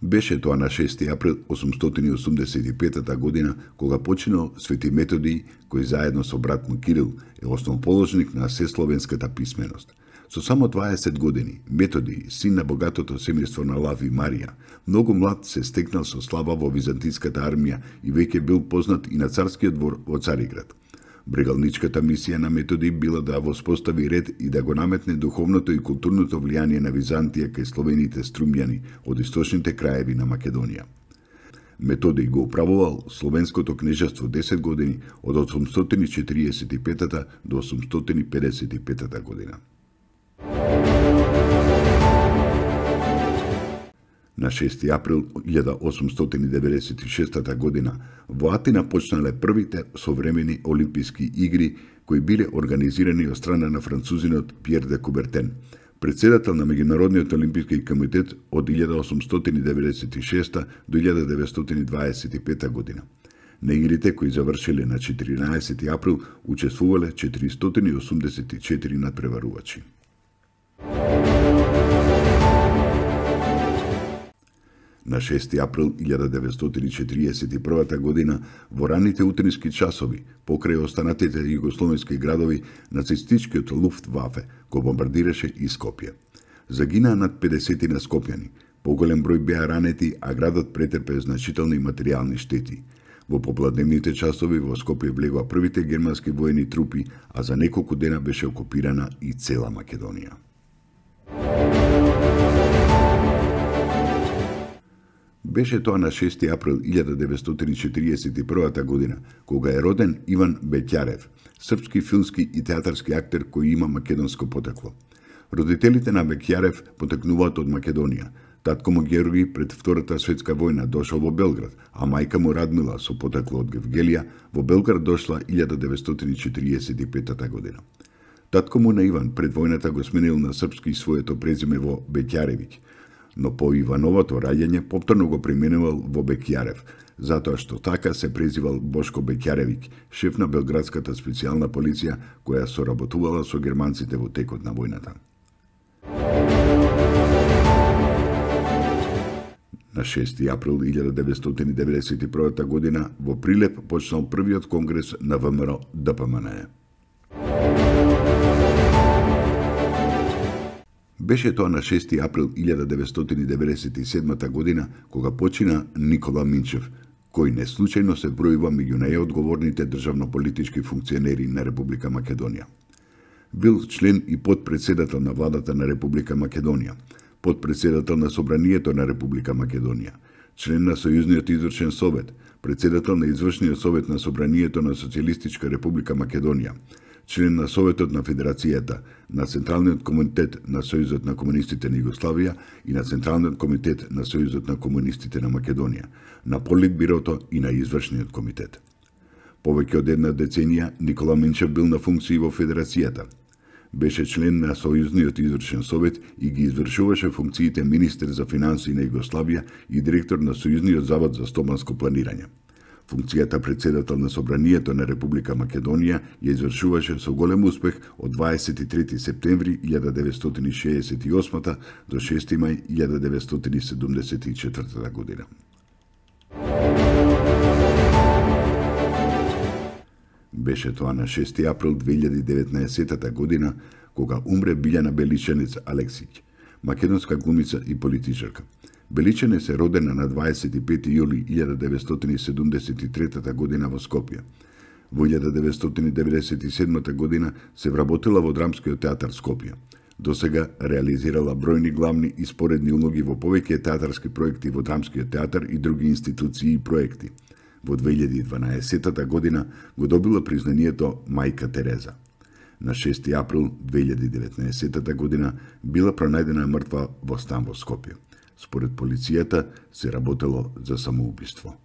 Беше тоа на 6 април 885 година, кога починал Свети Методий, кој заедно со брат му Кирил е основоположник на сесловенската писменост. Со само 20 години, Методий, син на богатото семејство на Лав и Марија, многу млад се стекнал со слава во византиската армија и веќе бил познат и на царскиот двор во Цариград. Брегалничката мисија на Методий била да воспостави ред и да го наметне духовното и културното влијание на Византија кај словените струмјани од источните краеви на Македонија. Методий го управувал Словенското кнежество 10 години од 845 до 855 година. На 6 април 1896 година во Атина почнале првите современи олимписки игри кои биле организирани од страна на французинот Пиер де Кубертен, председател на Меѓународниот олимписки комитет од 1896 до 1925 година. На игрите кои завршиле на 14 април учествувале 484 надпреварувачи. На 6 април 1941 година, во раните утрински часови, покрај останатите југословенски градови, нацистичкиот Луфтвафе го бомбардираше и Скопје. Загинаа над 50 на скопјани, поголем број беа ранети, а градот претрпе значителни материјални штети. Во попладневните часови во Скопје влегоа првите германски воени трупи, а за неколку дена беше окупирана и цела Македонија. Беше тоа на 6 април 1941 година, кога е роден Иван Беќарев, српски филмски и театарски актер кој има македонско потекло. Родителите на Беќарев потекнуваат од Македонија. Татко му Георги пред Втората светска војна дошол во Белград, а мајка му Радмила со потекло од Гевгелија во Белград дошла 1945 година. Татко му на Иван пред војната го сменил на српски своето презиме во Беќаревиќ, но по Ивановото раѓање повторно го применувал во Беќарев, затоа што така се презивал Бошко Беќаревиќ, шеф на белградската специјална полиција која соработувала со германците во текот на војната. На 6 април 1991 година во Прилеп почнал првиот конгрес на ВМРО ДПМНЕ. Беше тоа на 6 април 1997 година кога почина Никола Минчев, кој неслучајно се бројува меѓу најодговорните државно-политички функционери на Република Македонија. Бил член и подпредседател на владата на Република Македонија, подпредседател на Собранието на Република Македонија, член на Сојузниот извршен совет, председател на Извршниот совет на Собранието на Социјалистичка Република Македонија, член на Советот на Федерацијата, на Централниот комитет на Сојузот на комунистите на Југославија и на Централниот комитет на Сојузот на комунистите на Македонија, на Политбирото и на Извршниот комитет. Повеќе од една деценија Никола Минчев бил на функции во Федерацијата. Беше член на Сојузниот извршен совет и ги извршуваше функциите министер за финансии на Југославија и директор на Сојузниот завод за стопанско планирање. Функцијата председател на Собранието на Република Македонија ја извршуваше со голем успех од 23 септември 1968 до 6 мај 1974 година. Беше тоа на 6 април 2019 година кога умре Билјана Беличенец Алексиќ, македонска глумица и политичарка. Беличенец е родена на 25 јули 1973 година во Скопје. Во 1997 година се вработила во Драмскиот театар Скопје. Досега реализирала бројни главни и споредни улоги во повеќе театарски проекти во Драмскиот театар и други институции и проекти. Во 2012 година го добила признанието Мајка Тереза. На 6 април 2019 година била пронајдена мртва во стан во Скопје. Според полицијата се работело за самоубиство.